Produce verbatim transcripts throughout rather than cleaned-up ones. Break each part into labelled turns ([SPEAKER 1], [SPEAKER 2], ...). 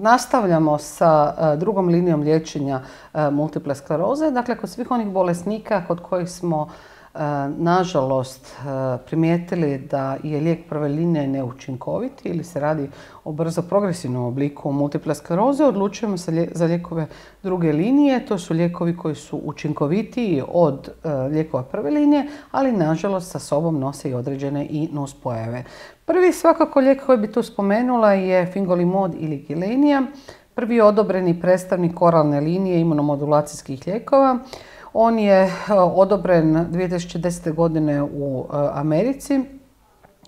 [SPEAKER 1] nastavljamo sa drugom linijom liječenja multiple skleroze. Dakle, kod svih onih bolesnika kod kojih smo nažalost primijetili da je lijek prve linije neučinkovit ili se radi o brzo progresivnom obliku multiple skleroze, odlučujemo se za lijekove druge linije. To su lijekovi koji su učinkovitiji od lijekova prve linije, ali nažalost sa sobom nose i određene i nuspojave. Prvi svakako lijek koji bi tu spomenula je fingolimod ili Gilenya, prvi odobreni predstavnik oralne linije imunomodulacijskih lijekova. On je odobren dvije tisuće desete. godine u Americi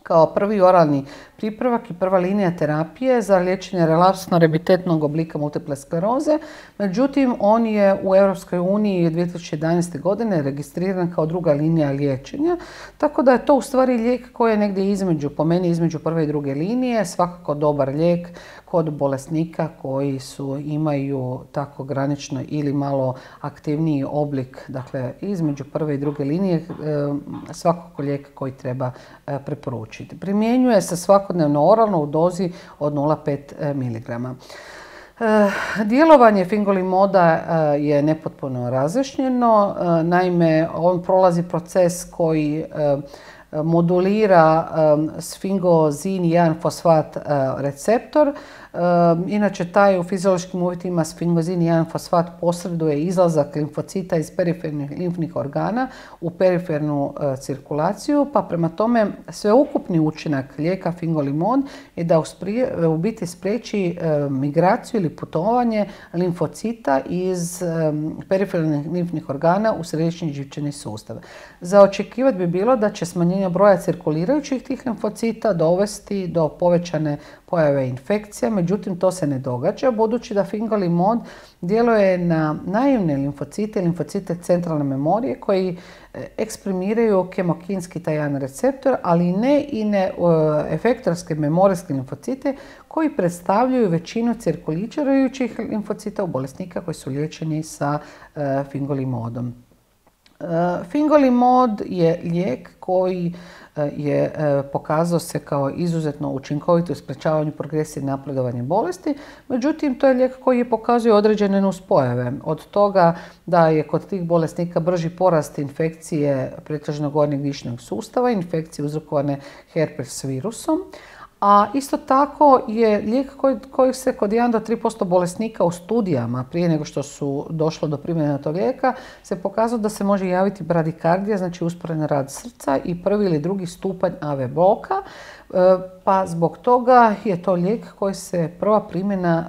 [SPEAKER 1] kao prvi oralni pripravak i prva linija terapije za liječenje relapsno-rebitetnog oblika multiple skleroze. Međutim, on je u Europskoj uniji dvije tisuće jedanaeste. godine registriran kao druga linija liječenja, tako da je to u stvari lijek koji je negdje između, po meni između prve i druge linije, svakako dobar lijek kod bolesnika koji su, imaju tako granično ili malo aktivniji oblik, dakle između prve i druge linije, svakako lijek koji treba preporučiti. Primjenjuje se svakodnevno oralno u dozi od nula zarez pet miligrama. Djelovanje fingolimoda je nepotpuno razjašnjeno. Naime, on prolazi proces koji modulira sfingozin jedan fosfat receptor. Inače, taj u fiziološkim uvjetima sfingozin jedan fosfat posreduje izlazak limfocita iz perifernih limfnih organa u perifernu cirkulaciju, pa prema tome sveukupni učinak lijeka fingolimod je da u biti spriječi migraciju ili putovanje limfocita iz perifernih limfnih organa u središnji živčani sustav. Za očekivati bi bilo da će smanjenje broja cirkulirajućih tih limfocita dovesti do povećane pojave infekcija, međutim to se ne događa budući da fingolimod djeluje na naivne limfocite, limfocite centralne memorije koji eksprimiraju kemokinski taj jedan receptor, ali ne i ne efektorske memorijske limfocite koji predstavljaju većinu cirkulirajućih limfocita u bolesnika koji su liječeni sa fingolimodom. Fingolimod je lijek koji je pokazao se kao izuzetno učinkovit u sprečavanju progresije i napredovanja bolesti. Međutim, to je lijek koji je pokazuje određene nuspojave. Od toga da je kod tih bolesnika brži porast infekcije pretežno gornjeg dišnog sustava, infekcije uzrokovane herpes virusom. A isto tako je lijek koji, koji se kod jedan do tri posto bolesnika u studijama prije nego što su došlo do primjene tog lijeka se pokazalo da se može javiti bradikardija, znači usporen rad srca i prvi ili drugi stupanj A V bloka. Pa zbog toga je to lijek koji se prva primjena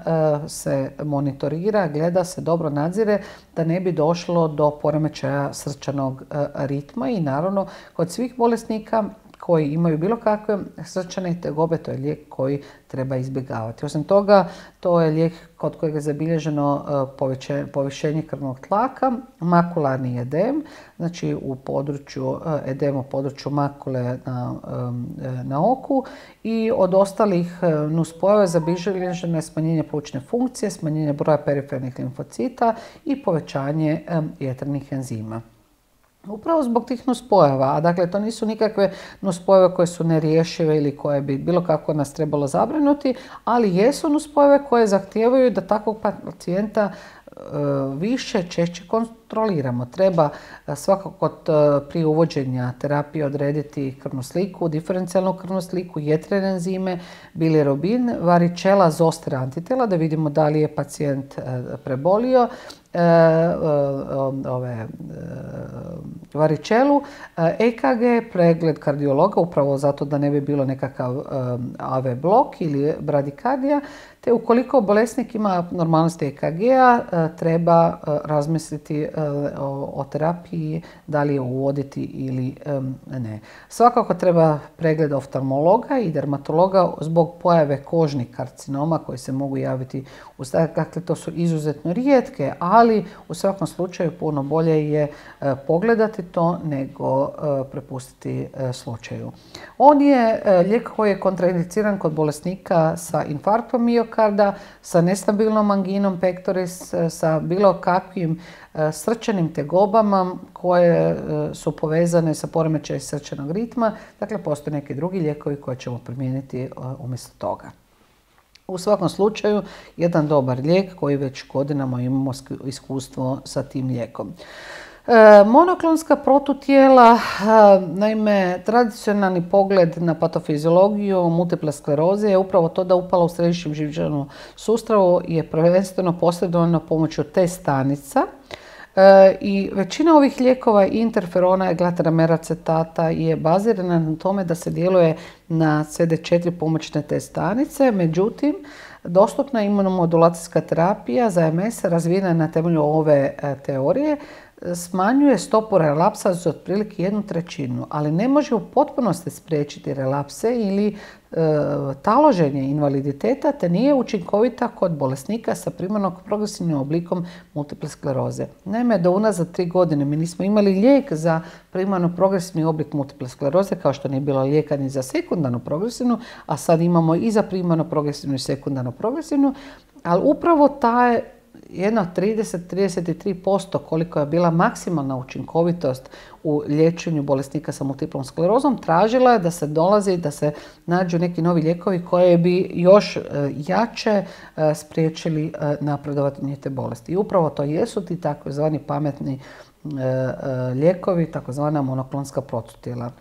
[SPEAKER 1] se monitorira, gleda se, dobro nadzire da ne bi došlo do poremećaja srčanog ritma i naravno kod svih bolesnika koji imaju bilo kakve srčane tegobe, to je lijek koji treba izbjegavati. Osim toga, to je lijek kod kojeg je zabilježeno povišenje krvnog tlaka, makularni edem, znači u području edem u području makule na, na oku i od ostalih nuspojava zabilježeno je smanjenje plućne funkcije, smanjenje broja perifernih limfocita i povećanje jetrnih enzima. Upravo zbog tih nuspojava, a dakle to nisu nikakve nuspojave koje su nerješive ili koje bi bilo kako nas trebalo zabrinuti, ali jesu nuspojave koje zahtijevaju da takvog pacijenta više, češće kontroliramo. Treba svakako prije uvođenja terapije odrediti krvnu sliku, diferencijalnu krvnu sliku, jetrene enzime, bilirubin, varičela, zoster antitela da vidimo da li je pacijent prebolio ove varičelu, E K G, pregled kardiologa, upravo zato da ne bi bilo nekakav A V blok ili bradikardija, te ukoliko bolesnik ima abnormalnosti E K G-a, treba razmisliti o, o terapiji, da li je uvoditi ili ne. Svakako treba pregled oftalmologa i dermatologa zbog pojave kožnih karcinoma koji se mogu javiti u startu. Dakle, to su izuzetno rijetke, ali u svakom slučaju puno bolje je pogledati to nego prepustiti slučaju. On je lijek koji je kontraindiciran kod bolesnika sa infarktom miokarda, sa nestabilnom anginom pectoris, sa bilo kakvim srčanim tegobama koje su povezane sa poremećajem srčanog ritma. Dakle, postoje neki drugi lijekovi koje ćemo primijeniti umjesto toga. U svakom slučaju, jedan dobar lijek koji već godinama imamo iskustvo sa tim lijekom. E, monoklonska protutijela, e, naime, tradicionalni pogled na patofiziologiju multiple skleroze je upravo to da upala u središnjem živčanom sustavu je prvenstveno posredovano pomoću T stanica. E, I većina ovih lijekova interferona i glutarameracetata je bazirana na tome da se djeluje na C D četiri pomoćne T stanice, međutim, dostupna imunomodulacijska terapija za M S razvijena na temelju ove e, teorije smanjuje stopu relapsa za otprilike jednu trećinu, ali ne može u potpunosti spriječiti relapse ili e, taloženje invaliditeta, te nije učinkovita kod bolesnika sa primarno progresivnim oblikom multiple skleroze. Naime, do unazad tri godine mi nismo imali lijek za primarno progresivni oblik multiple skleroze, kao što nije bilo lijeka ni za sekundarno progresivnu, a sad imamo i za primarno progresivnu i sekundarno progresivnu, ali upravo taj jedno trideset do trideset tri posto koliko je bila maksimalna učinkovitost u liječenju bolesnika sa multiplom sklerozom, tražila je da se dolazi, da se nađu neki novi lijekovi koji bi još jače spriječili napredovanje te bolesti. I upravo to jesu ti takozvani pametni lijekovi, takozvana monoklonska protutijela.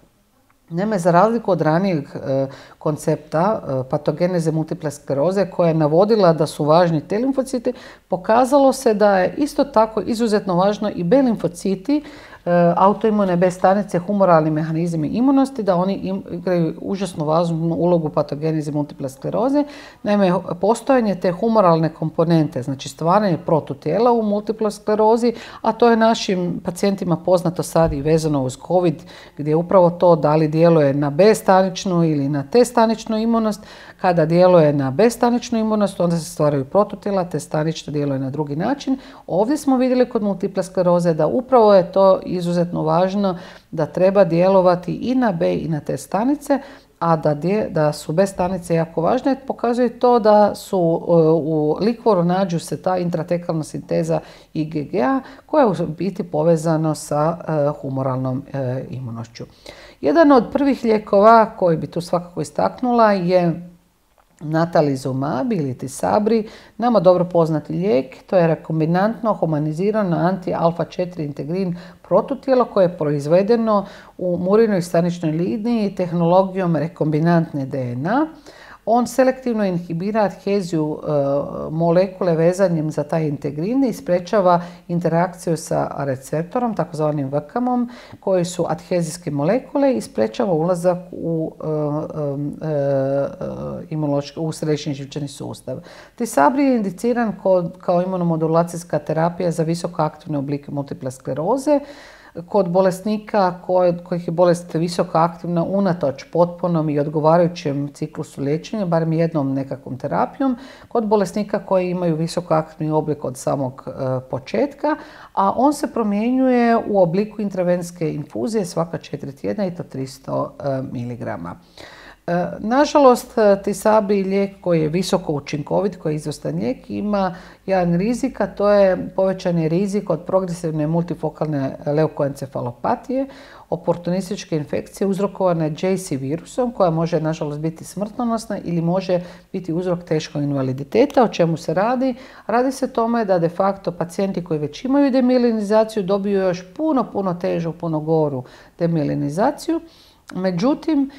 [SPEAKER 1] Naime, za razliku od ranijeg e, koncepta e, patogeneze multiple skleroze koja je navodila da su važni T limfociti, pokazalo se da je isto tako izuzetno važno i B limfociti, e, autoimune B stanice, humoralni mehanizmi imunosti, da oni im, igraju užasno važnu ulogu patogeneze multiple skleroze. Naime, postojanje te humoralne komponente, znači stvaranje protutijela u multiple sklerozi, a to je našim pacijentima poznato sad i vezano uz COVID, gdje je upravo to da li djeluje na B staničnu ili na T staničnu imunost. Kada djeluje na B staničnu imunost, onda se stvaraju protutijela, T stanična djeluje na drugi način. Ovdje smo vidjeli kod multiple skleroze da upravo je to izuzetno važno, da treba djelovati i na B i na T stanice, a da, dje, da su B stanice jako važne, pokazuje to da su u likvoru nađu se ta intratekalna sinteza I G G-a koja je u biti povezano sa humoralnom imunošću. Jedan od prvih lijekova koji bi tu svakako istaknula je natalizumab ili Tisabri, nama dobro poznati lijek. To je rekombinantno humanizirano anti-alfa četiri integrin protutijelo koje je proizvedeno u murinoj staničnoj liniji tehnologijom rekombinantne D N A. On selektivno inhibira adheziju e, molekule vezanjem za taj integrin i sprečava interakciju sa receptorom, takozvanim V K M-om, koji su adhezijske molekule i sprečava ulazak u, e, e, e, u središnji živčani sustav. Tisabri je indiciran kod, kao imunomodulacijska terapija za visoko aktivne oblike multiple skleroze, kod bolesnika kojih je bolest visoko aktivna unatoč potpunom i odgovarajućem ciklusu liječenja, barem jednom nekakvom terapijom, kod bolesnika koji imaju visoko aktivni oblik od samog e, početka, a on se promjenjuje u obliku intravenske infuzije svaka četiri tjedna i to tristo miligrama. Nažalost, Tisabri lijek koji je visoko učinkovit, koji je izvrstan lijek, ima jedan rizik, a to je povećani rizik od progresivne multifokalne leukoencefalopatije, oportunističke infekcije uzrokovane J C virusom, koja može nažalost biti smrtonosna ili može biti uzrok teškog invaliditeta. O čemu se radi? Radi se o tome da de facto pacijenti koji već imaju demilinizaciju dobiju još puno, puno težu, puno goru demilinizaciju. Međutim,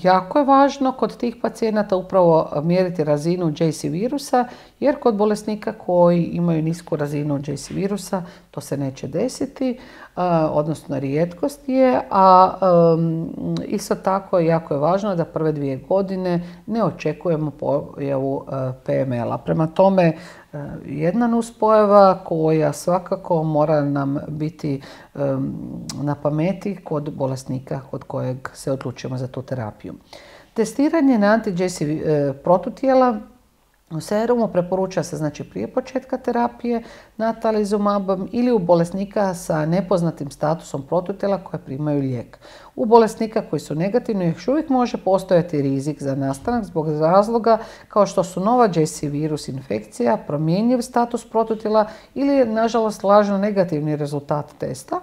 [SPEAKER 1] jako je važno kod tih pacijenata upravo mjeriti razinu J C virusa, jer kod bolesnika koji imaju nisku razinu J C virusa to se neće desiti, odnosno rijetkost je, a isto tako jako je važno da prve dvije godine ne očekujemo pojavu P M L-a. Prema tome, jedna nuspojava koja svakako mora nam biti na pameti kod bolesnika kod kojeg se odlučujemo za tu terapiju. Testiranje na anti-J C protutijela u serumu preporuča se znači prije početka terapije natalizumabom ili u bolesnika sa nepoznatim statusom protutijela koje primaju lijek. U bolesnika koji su negativni još uvijek može postojati rizik za nastanak zbog razloga kao što su nova J C virus infekcija, promjenjiv status protutijela ili nažalost lažno negativni rezultat testa.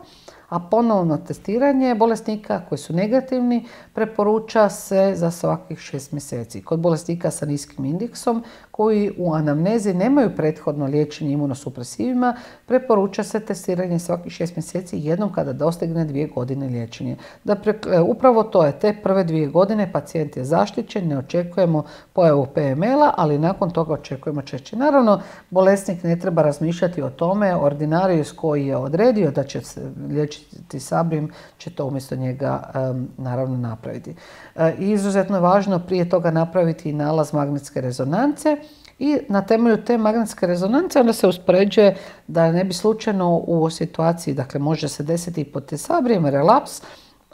[SPEAKER 1] A ponovno testiranje bolesnika koji su negativni preporuča se za svakih šest mjeseci. Kod bolesnika sa niskim indeksom koji u anamnezi nemaju prethodno liječenje imunosupresivima, preporuča se testiranje svakih šest mjeseci jednom kada dostigne dvije godine liječenja. Dakle, upravo to je, te prve dvije godine pacijent je zaštićen, ne očekujemo pojavu P M L-a, ali nakon toga očekujemo češće. Naravno, bolesnik ne treba razmišljati o tome, ordinarijus koji je odredio da će se liječiti Sabrim će to umjesto njega um, naravno napraviti. E, izuzetno je važno prije toga napraviti i nalaz magnetske rezonance i na temelju te magnetske rezonance onda se uspoređuje da ne bi slučajno u situaciji, dakle može se desiti i pod Tesabrijem relaps,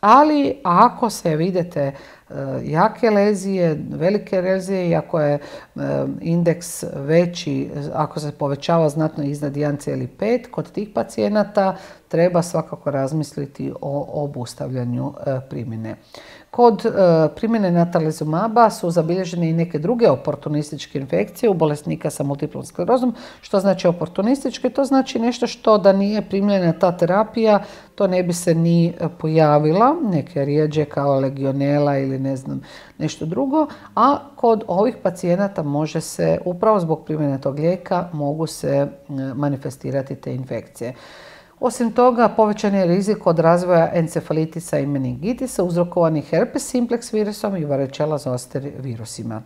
[SPEAKER 1] ali ako se vidite jake lezije, velike lezije i ako je indeks veći, ako se povećava znatno iznad jedan zarez pet, kod tih pacijenata treba svakako razmisliti o obustavljanju primjene. Kod primjene natalizumaba su zabilježene i neke druge oportunističke infekcije u bolesnika sa multiplom sklerozom. Što znači oportunističke? To znači nešto što da nije primljena ta terapija, to ne bi se ni pojavila, neke rijeđe kao legionela ili ne znam nešto drugo, a kod ovih pacijenata može se, upravo zbog primjene tog lijeka, mogu se manifestirati te infekcije. Osim toga, povećan je rizik od razvoja encefalitisa i meningitisa uzrokovanih herpes simplex virusom i varicella zoster virusima.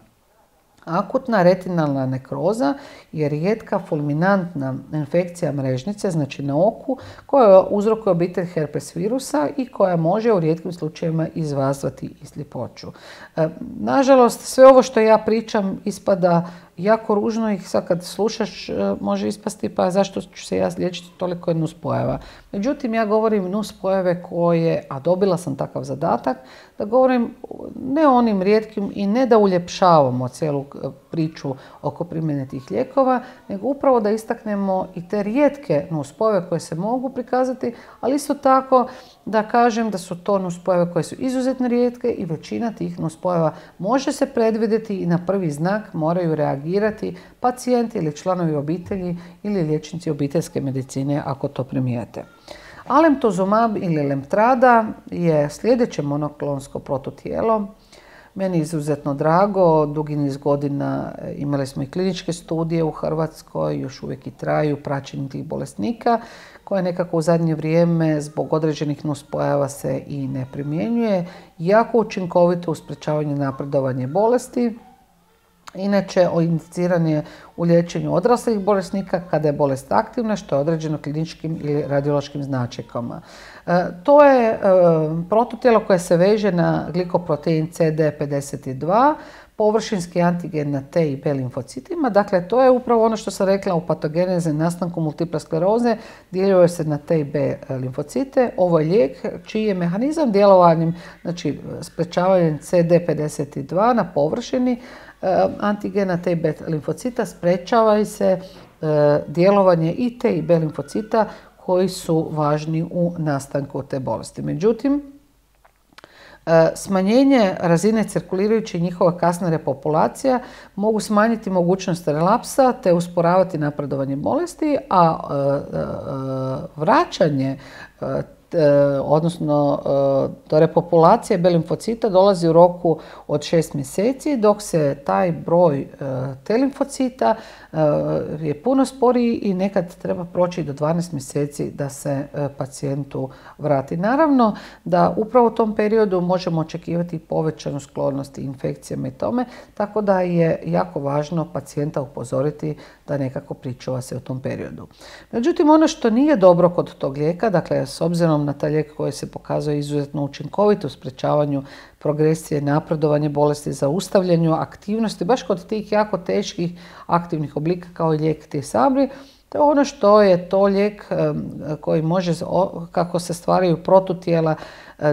[SPEAKER 1] Akutna retinalna nekroza je rijetka fulminantna infekcija mrežnice, znači na oku, koja uzrokuje obitelj herpes virusa i koja može u rijetkim slučajevima izazvati i sljepoću. E, nažalost, sve ovo što ja pričam ispada jako ružno i sad kad slušaš može ispasti pa zašto ću se ja liječiti toliko nuspojava. Međutim, ja govorim nuspojave koje, a dobila sam takav zadatak, da govorim ne o onim rijetkim i ne da uljepšavamo cijelu priču oko primjene tih lijekova, nego upravo da istaknemo i te rijetke nuspojave koje se mogu prikazati, ali isto tako da kažem da su to nuspojave koje su izuzetno rijetke i većina tih nuspojava može se predvidjeti i na prvi znak moraju reagirati pacijenti ili članovi obitelji ili liječnici obiteljske medicine ako to primijete. Alemtuzumab ili Lemtrada je sljedeće monoklonsko protutijelo. Meni je izuzetno drago, dugi niz godina imali smo i kliničke studije u Hrvatskoj, još uvijek i traju praćenje tih bolesnika, koje nekako u zadnje vrijeme zbog određenih nuspojava se i ne primjenjuje. Jako učinkovito u sprečavanju napredovanja bolesti. Inače, indiciran je u liječenju odraslih bolesnika kada je bolest aktivna, što je određeno kliničkim ili radiološkim značajkama. E, to je e, protutijelo koje se veže na glikoprotein C D pedeset dva, površinski antigen na T i B limfocitima. Dakle, to je upravo ono što sam rekla u patogeneze nastanku multiple skleroze, djeljuje se na T i B limfocite. Ovo je lijek čiji je mehanizam djelovanjem, znači sprečavanjem C D pedeset dva na površini antigena T i B limfocita sprečava se djelovanje i T i B limfocita koji su važni u nastanku te bolesti. Međutim, smanjenje razine cirkulirajuće i njihova kasna repopulacija mogu smanjiti mogućnost relapsa te usporavati napredovanje bolesti, a vraćanje odnosno do repopulacije B limfocita dolazi u roku od šest mjeseci, dok se taj broj T limfocita je puno sporiji i nekad treba proći do dvanaest mjeseci da se pacijentu vrati. Naravno da upravo u tom periodu možemo očekivati povećanu sklonost infekcijama i tome, tako da je jako važno pacijenta upozoriti da nekako pričuva se u tom periodu. Međutim, ono što nije dobro kod tog lijeka, dakle s obzirom na taj lijek koji se pokazuje izuzetno učinkovit u sprečavanju progresije, napredovanje bolesti, zaustavljanju aktivnosti, baš kod tih jako teških aktivnih oblika kao i lijek Tisabri, to je ono što je to lijek koji može, kako se stvaraju protutijela,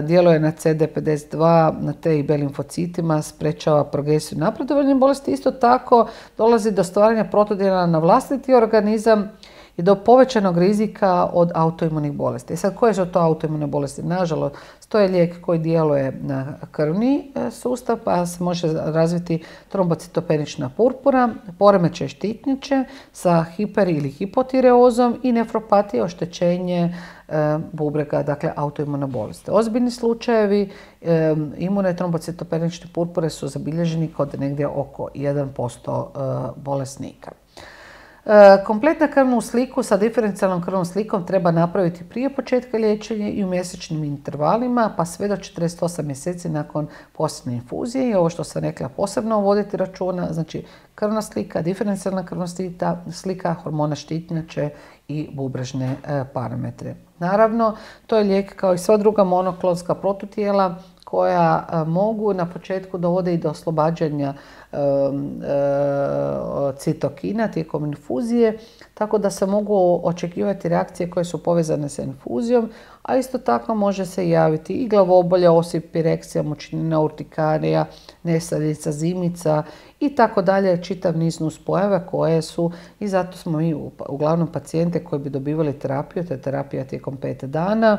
[SPEAKER 1] djeluje na C D pedeset dva, na T i B limfocitima, sprečava progresiju napredovanja bolesti. Isto tako dolazi do stvaranja protutijela na vlastiti organizam i do povećanog rizika od autoimunih bolesti. I sad, koje su to autoimune bolesti? Nažalost, to je lijek koji djeluje na krvni sustav, pa se može razviti trombocitopenična purpura, poremećaj štitnjače sa hiper ili hipotireozom i nefropatija, oštećenje bubrega, dakle autoimune bolesti. Ozbiljni slučajevi imune trombocitopenične purpure su zabilježeni kod negdje oko jedan posto bolesnika. Kompletna krvnu sliku sa diferencijalnom krvnom slikom treba napraviti prije početka liječenja i u mjesečnim intervalima, pa sve do četrdeset osam mjeseci nakon posljednje infuzije. I ovo što sam rekla, posebno voditi računa, znači krvna slika, diferencijalna krvna slika, hormona štitnjače i bubrežne parametre. Naravno, to je lijek kao i sva druga monoklonska protutijela koja mogu na početku dovode i do oslobađanja e, e, citokina tijekom infuzije, tako da se mogu očekivati reakcije koje su povezane sa infuzijom, a isto tako može se javiti i glavobolja, osip, pireksija, mučnina, urtikarija, nesanica, zimica i tako dalje, čitav niz nuspojava koje su, i zato smo mi uglavnom pacijente koji bi dobivali terapiju, te terapija tijekom pet dana,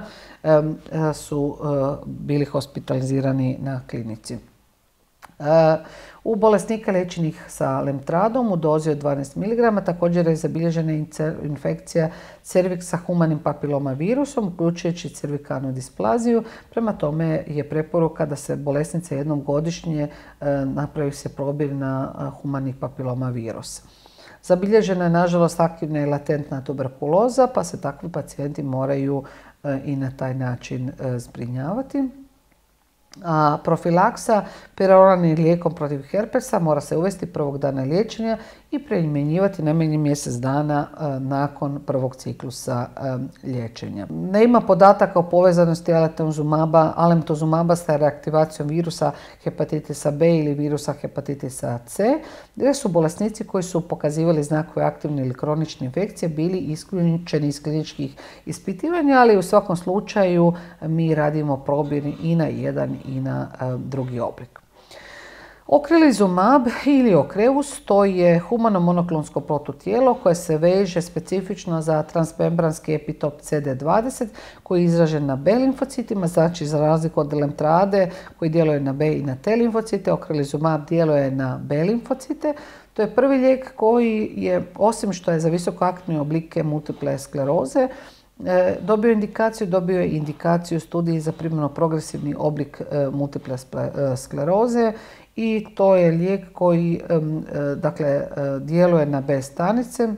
[SPEAKER 1] su bili hospitalizirani na klinici. U bolesnika liječenih sa lemtradom u dozi od dvanaest miligrama također je zabilježena infekcija cerviksa humanim papiloma virusom, uključujući cervikalnu displaziju. Prema tome je preporuka da se bolesnice jednom godišnje napravi se probir na humani papiloma virus. Zabilježena je nažalost aktivna i latentna tuberkuloza, pa se takvi pacijenti moraju i na taj način zbrinjavati. A profilaksa peroralnim lijekom protiv herpesa mora se uvesti prvog dana liječenja i primjenjivati najmanje mjesec dana nakon prvog ciklusa liječenja. Nema podataka o povezanosti alemtuzumaba, alemtuzumaba sa reaktivacijom virusa hepatitisa B ili virusa hepatitisa C, gdje su bolesnici koji su pokazivali znakove aktivne ili kronične infekcije bili isključeni iz kliničkih ispitivanja, ali u svakom slučaju mi radimo probir i na jedan i na drugi oblik. Okrelizumab ili Ocrevus, to je humano monoklonsko protutijelo koje se veže specifično za transmembranski epitop C D dvadeset koji je izražen na B limfocitima, znači za razliku od lemtrade koji djeluje na B i na T limfocite, Okrelizumab djeluje na B limfocite. To je prvi lijek koji je, osim što je za visokoaktivne oblike multiple skleroze, dobio indikaciju, dobio je indikaciju studiji za primarno progresivni oblik multiple skleroze i to je lijek koji dakle, djeluje na B stanice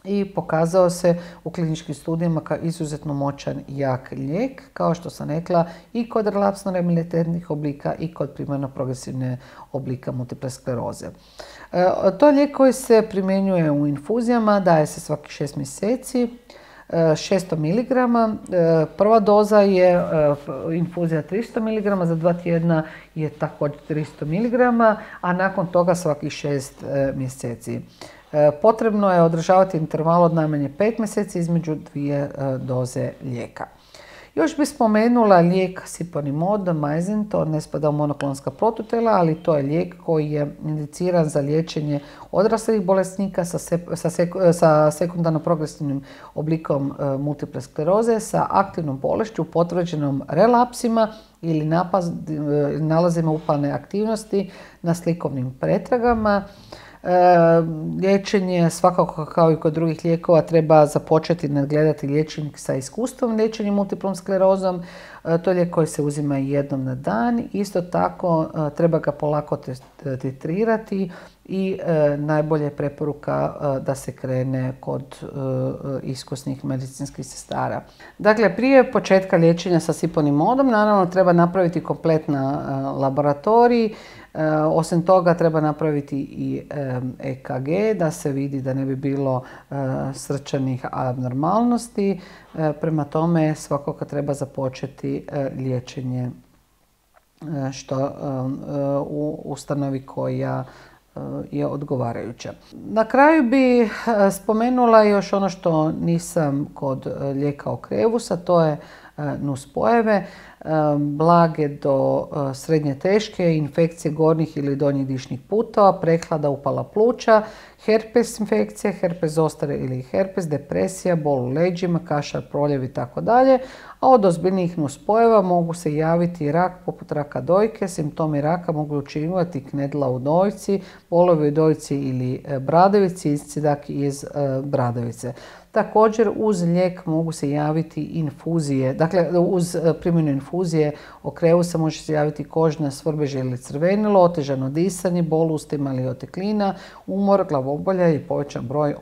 [SPEAKER 1] i pokazao se u kliničkim studijama kao izuzetno moćan i jak lijek, kao što sam rekla, i kod relapsno remittentnih oblika i kod primarno progresivne oblika multiple skleroze. To je lijek koji se primjenjuje u infuzijama, daje se svaki šest mjeseci. šesto miligrama. Prva doza je infuzija tristo miligrama, za dva tjedna je također tristo miligrama, a nakon toga svakih šest mjeseci. Potrebno je održavati interval od najmanje pet mjeseci između dvije doze lijeka. Još bih spomenula lijek Siponimod, Majzin, to ne spada u monoklonska protutijela, ali to je lijek koji je indiciran za liječenje odraslih bolesnika sa, se, sa, sek, sa sekundarno progresivnim oblikom e, multiple skleroze, sa aktivnom bolešću, potvrđenom relapsima ili napaz, e, nalazima upalne aktivnosti na slikovnim pretragama. E, liječenje, svakako kao i kod drugih lijekova, treba započeti nadgledati liječnik sa iskustvom liječenja multiplom sklerozom. E, to je lijek koji se uzima jednom na dan. Isto tako e, treba ga polako titrirati i e, najbolje je preporuka e, da se krene kod e, iskusnih medicinskih sestara. Dakle, prije početka liječenja sa Siponimodom naravno treba napraviti kompletna e, laboratorij. E, osim toga treba napraviti i E K G da se vidi da ne bi bilo e, srčanih abnormalnosti. E, prema tome svakako treba započeti e, liječenje e, što e, u ustanovi koja je odgovarajuća. Na kraju bi spomenula još ono što nisam kod lijeka Ocrevusa, to je nuspojave, blage do srednje teške, infekcije gornjih ili donjih dišnih putova, prehlada, upala pluća, herpes infekcije, herpes zostare ili herpes, depresija, bol u leđima, kašalj, proljev i tako dalje. A od ozbiljnijih nuspojava mogu se javiti rak poput raka dojke. Simptomi raka mogu učiniti knedla u dojci, bolovi u dojci ili bradavici, iscidak iz bradavice. Također uz lijek mogu se javiti infuzije, dakle uz primjenu infuzije okreusa može se javiti kožna svrbež ili crvenilo, otežano disanje, bol u ustima ili oteklina, umor, glavobolja i povećan broj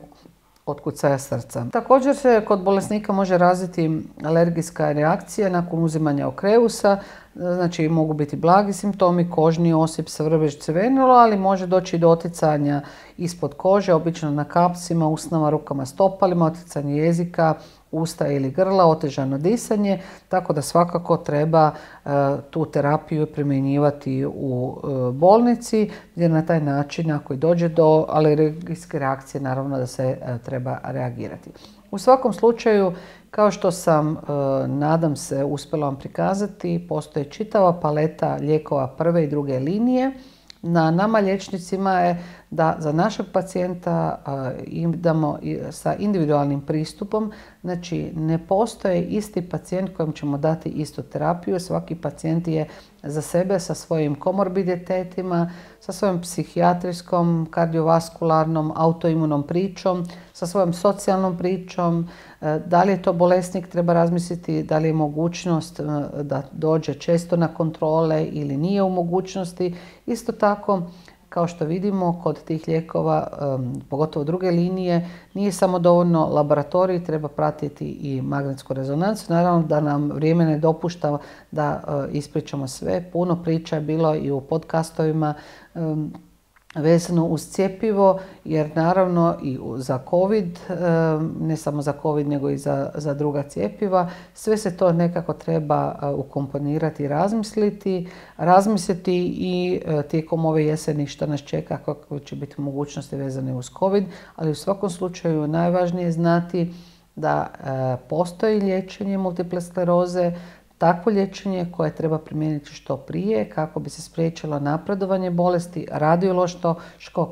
[SPEAKER 1] otkucaja srca. Također se kod bolesnika može razviti alergijska reakcija nakon uzimanja okreusa, znači mogu biti blagi simptomi, kožni osip, svrbež, crvenilo, ali može doći do oticanja ispod kože, obično na kapsima, usnama, rukama, stopalima, oticanje jezika, usta ili grla, otežano disanje, tako da svakako treba e, tu terapiju primjenjivati u e, bolnici, gdje na taj način ako i dođe do alergijske reakcije, naravno da se e, treba reagirati. U svakom slučaju, kao što sam, e, nadam se, uspjela vam prikazati, postoji čitava paleta lijekova prve i druge linije. Na nama liječnicima je da za našeg pacijenta idemo sa individualnim pristupom, znači ne postoji isti pacijent kojem ćemo dati istu terapiju. Svaki pacijent je za sebe sa svojim komorbiditetima, sa svojom psihijatrijskom, kardiovaskularnom, autoimunom pričom, sa svojom socijalnom pričom. Da li je to bolesnik, treba razmisliti da li je mogućnost da dođe često na kontrole ili nije u mogućnosti. Isto tako, kao što vidimo, kod tih lijekova, pogotovo druge linije, nije samo dovoljno laboratorij, treba pratiti i magnetsku rezonancu. Naravno da nam vrijeme ne dopušta da ispričamo sve. Puno priča je bilo i u podcastovima vezano uz cjepivo, jer naravno i za COVID, ne samo za COVID nego i za, za druga cjepiva, sve se to nekako treba ukomponirati i razmisliti, razmisliti i tijekom ove jeseni što nas čeka, kako će biti mogućnosti vezane uz COVID, ali u svakom slučaju najvažnije je znati da postoji liječenje multiple skleroze, takvo liječenje koje treba primijeniti što prije kako bi se spriječilo napredovanje bolesti, radiološko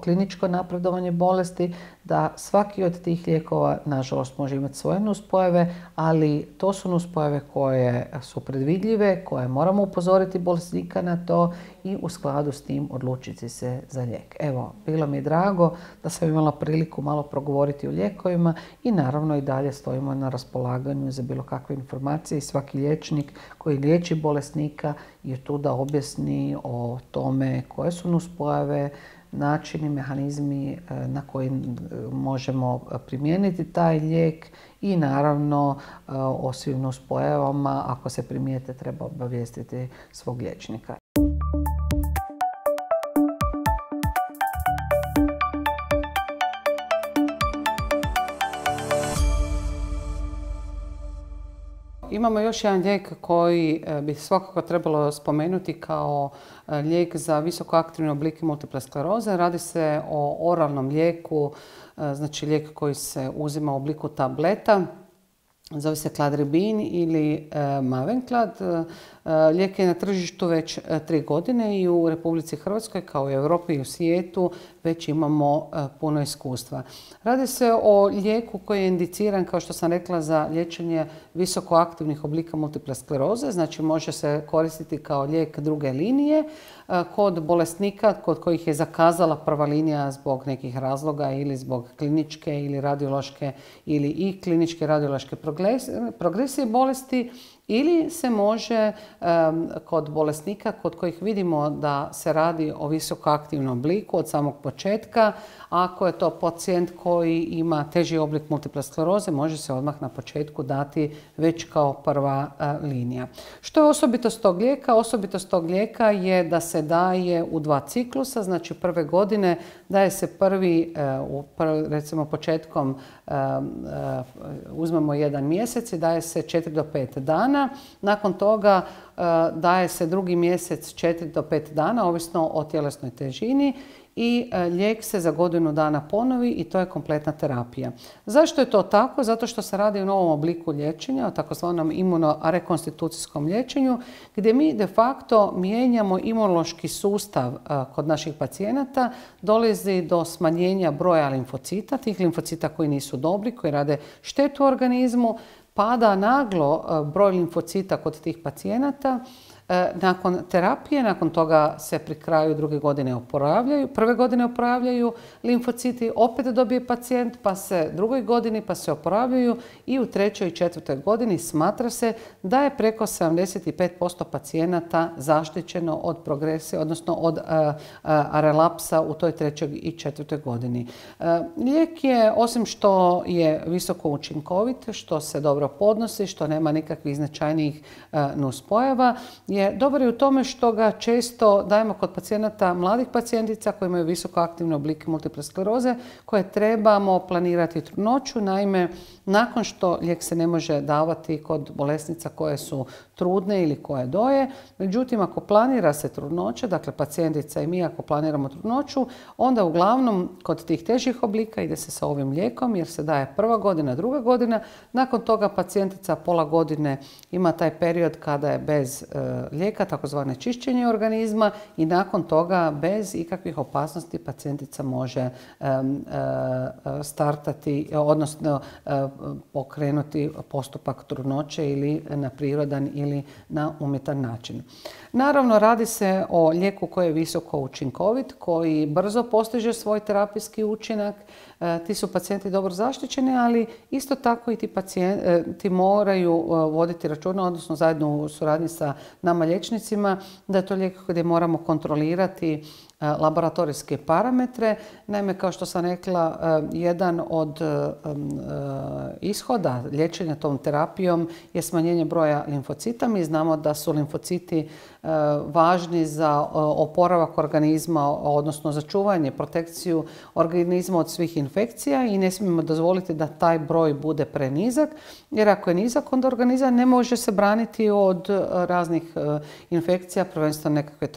[SPEAKER 1] kliničko napredovanje bolesti, da svaki od tih lijekova nažalost može imati svoje nuspojave, ali to su nuspojave koje su predvidljive, koje moramo upozoriti bolesnika na to i u skladu s tim odlučiti se za lijek. Evo, bilo mi je drago da sam imala priliku malo progovoriti o lijekovima i naravno i dalje stojimo na raspolaganju za bilo kakve informacije i svaki liječnik koji liječi bolesnika je tu da objasni o tome koje su nuspojave, načini, mehanizmi na koji možemo primijeniti taj lijek i naravno o svim nuspojavama, ako se primijete, treba obavijestiti svog liječnika. Imamo još jedan lijek koji bi svakako trebalo spomenuti kao lijek za visokoaktivne oblike multiple skleroze. Radi se o oralnom lijeku, znači lijek koji se uzima u obliku tableta. Zove se Cladribine ili Mavenclad. Lijek je na tržištu već tri godine i u Republici Hrvatskoj kao i u Europi i u svijetu već imamo puno iskustva. Radi se o lijeku koji je indiciran, kao što sam rekla, za liječenje visokoaktivnih oblika multiple skleroze, znači može se koristiti kao lijek druge linije kod bolesnika kod kojih je zakazala prva linija zbog nekih razloga ili zbog kliničke ili radiološke ili i kliničke radiološke progresije bolesti, ili se može um, kod bolesnika kod kojih vidimo da se radi o visokoaktivnom obliku od samog početka. Ako je to pacijent koji ima teži oblik multiple skleroze, može se odmah na početku dati već kao prva uh, linija. Što je osobitost tog lijeka? Osobitost tog lijeka je da se daje u dva ciklusa, znači prve godine daje se prvi, uh, prvi recimo početkom uh, uh, uzmemo jedan mjesec i daje se četiri do pet dana. Nakon toga uh, daje se drugi mjesec četiri do pet dana, ovisno o tjelesnoj težini. i lijek se za godinu dana ponovi i to je kompletna terapija. Zašto je to tako? Zato što se radi o novom obliku liječenja, o takozvanom imunorekonstitucijskom liječenju, gdje mi de facto mijenjamo imunološki sustav kod naših pacijenata, dolazi do smanjenja broja limfocita, tih limfocita koji nisu dobri, koji rade štetu organizmu, pada naglo broj limfocita kod tih pacijenata. Nakon terapije, nakon toga se pri kraju druge godine oporavljaju, prve godine oporavljaju limfociti, opet dobije pacijent, pa se drugoj godini pa se oporavljaju i u trećoj i četvrtoj godini smatra se da je preko sedamdeset pet posto pacijenata zaštićeno od progresije, odnosno od a, a, relapsa u toj trećoj i četvrtoj godini. A, lijek je, osim što je visoko učinkovit, što se dobro podnosi, što nema nikakvih značajnijih nuspojava, je dobar je u tome što ga često dajemo kod pacijenata, mladih pacijentica koji imaju visoko aktivne oblike multiple skleroze, koje trebamo planirati trudnoću. Naime, nakon što lijek se ne može davati kod bolesnica koje su trudne ili koje doje, međutim ako planira se trudnoća, dakle pacijentica i mi ako planiramo trudnoću, onda uglavnom kod tih težih oblika ide se sa ovim lijekom jer se daje prva godina, druga godina. Nakon toga pacijentica pola godine ima taj period kada je bez e, lijeka, takozvane čišćenje organizma, i nakon toga bez ikakvih opasnosti pacijentica može e, e, startati, odnosno e, pokrenuti postupak trudnoće ili na prirodan ili na umjetan način. Naravno, radi se o lijeku koji je visoko učinkovit, koji brzo postiže svoj terapijski učinak. E, ti su pacijenti dobro zaštićeni, ali isto tako i ti pacijenti moraju voditi računa, odnosno zajedno u suradnji sa nama liječnicima, da je to lijek gdje moramo kontrolirati laboratorijske parametre. Naime, kao što sam rekla, jedan od ishoda liječenja tom terapijom je smanjenje broja limfocita. Mi znamo da su limfociti važni za oporavak organizma, odnosno za čuvanje, protekciju organizma od svih infekcija i ne smijemo dozvoliti da taj broj bude prenizak, jer ako je nizak, onda organizam ne može se braniti od raznih infekcija, prvenstveno nekakve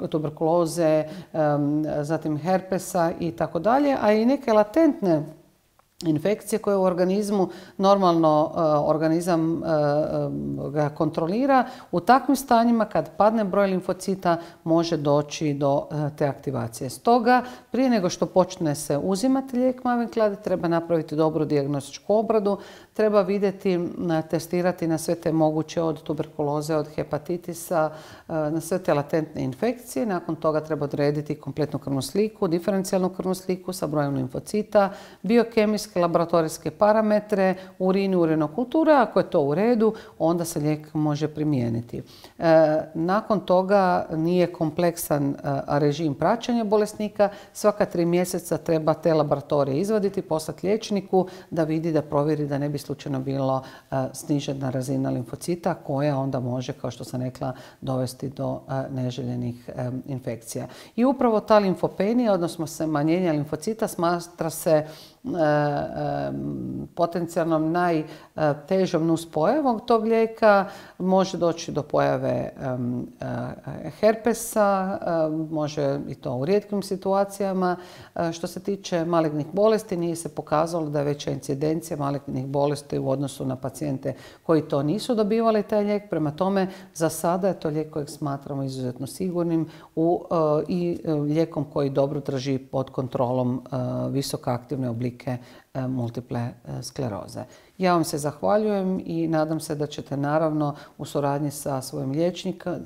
[SPEAKER 1] tuberkuloze, zatim herpesa i tako dalje, a i neke latentne infekcije koje u organizmu normalno organizam ga kontrolira. U takvim stanjima kad padne broj limfocita može doći do te aktivacije. Stoga, prije nego što počne se uzimati lijek Mavenclad, treba napraviti dobru dijagnostičku obradu, treba vidjeti, testirati na sve te moguće, od tuberkuloze, od hepatitisa, na sve te latentne infekcije. Nakon toga treba odrediti kompletnu krvnu sliku, diferencijalnu krvnu sliku sa brojem limfocita, biokemijske laboratorijske parametre, urin i urinokultura. Ako je to u redu, onda se lijek može primijeniti. E, nakon toga nije kompleksan a, režim praćenja bolesnika. Svaka tri mjeseca treba te laboratorije izvaditi, poslati liječniku da vidi, da provjeri da ne bi slučajno bilo a, snižena razina limfocita koja onda može, kao što sam rekla, dovesti do a, neželjenih a, infekcija. I upravo ta limfopenija, odnosno smanjenje limfocita, smatra se potencijalno najtežom nuspojavom tog lijeka. Može doći do pojave herpesa, može i to u rijetkim situacijama. Što se tiče malignih bolesti, nije se pokazalo da je veća incidencija malignih bolesti u odnosu na pacijente koji to nisu dobivali taj lijek. Prema tome, za sada je to lijek kojeg smatramo izuzetno sigurnim u, i lijekom koji dobro drži pod kontrolom visoko aktivne oblike multiple skleroze. Ja vam se zahvaljujem i nadam se da ćete naravno u suradnji sa svojim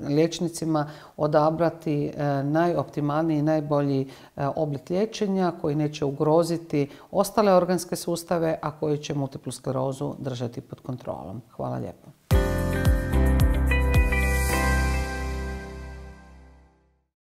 [SPEAKER 1] liječnicima odabrati najoptimalniji i najbolji oblik liječenja koji neće ugroziti ostale organske sustave, a koji će multiplu sklerozu držati pod kontrolom. Hvala lijepo.